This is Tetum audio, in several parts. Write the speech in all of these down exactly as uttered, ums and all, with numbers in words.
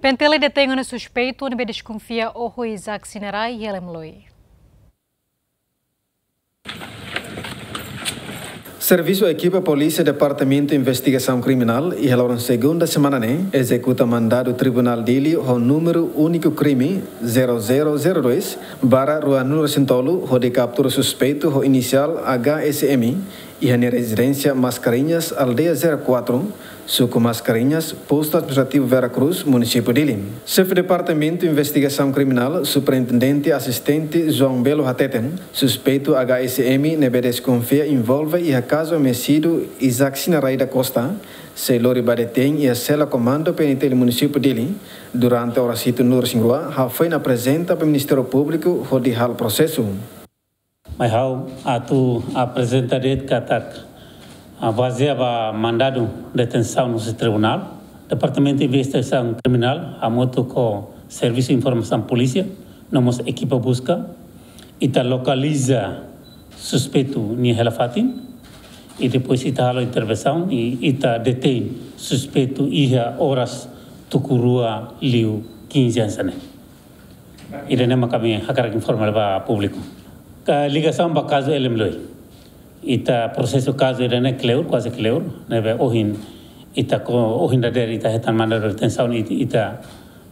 PNTL detein ona suspeitu ne'ebé deskonfia oho Isaac Sinarai iha Lemloi. Servisu ekipa polísia Departamentu Investigasaun Kriminál iha loron segunda semana ne'e ezekuta mandadu Tribunál Dili ho númeru úniku krime zero zero zero dois barra ruanulu resin tolu, hodi kaptura suspeitu ho inisiál H S M iha nia rezidénsia Mascarenhas, aldeia zero quatro, suku Mascarenhas, postu administrativu Vera Cruz, munisípiu Dili. Xefe Departamentu Investigasaun Kriminál, Superintendente Asistente João Belo hateten, suspeitu H S M ne'ebé deskonfia envolve iha kazu homisidu Isaac Sinarai da Costa, sei lori ba detein iha sela komandu PNTL munisípiu Dili, durante oras hitunulu resin rua, hafoin aprezenta ba Ministériu Públiku hodi halo prosesu. Mai ha'u atu aprezenta de'it katak, ah, bazeia ba mandadu detensaun husi tribunál, Departamentu Investigasaun Kriminál hamutuk ho Servisu Informasaun Polísia, no mós ekipa buska, ita lokaliza suspeitu nia hela fatin, i depois ita halo intervensaun, i ita detein suspeitu iha oras tuku rua liu kinze hanesan ne'e. Ida-ne'e mak ami hakarak informa ba públiku. Ka ligasaun ba kazu Lemloi. Ita prosesu kazu ida-ne'e kleur, kuaze kleur, ne'ebé ohin ita ko, ohin dadeer ita hetan mandadu detensaun, it-, ita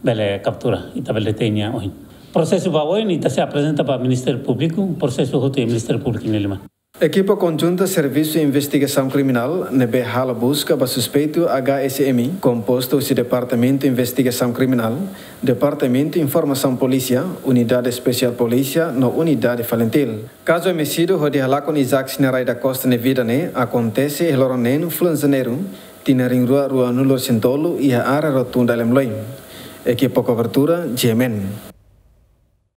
bele kaptura, ita bele detein nia ohin. Prosesu ba oin ita sei aprezenta ba Ministériu Públiku, prosesu hotu iha Ministériu Públiku nia liman. Ekipa konjunta Servisu Investigasaun Kriminál ne'ebé halo buska ba suspeitu H S M, kompostu husi Departamentu Investigasaun Kriminál, Departamentu Informasaun Polísia, Unidade Espesiál Polísia no Unidade Falintil. Kazu homisidu hodi halakon Isaac Sinarai da Costa nia vida ne'e akontese iha loron neen fulan Janeiru, tinan rihun rua ruanulu resin tolu, iha área rotunda Lemloi. Ekipa kobertura, G M N.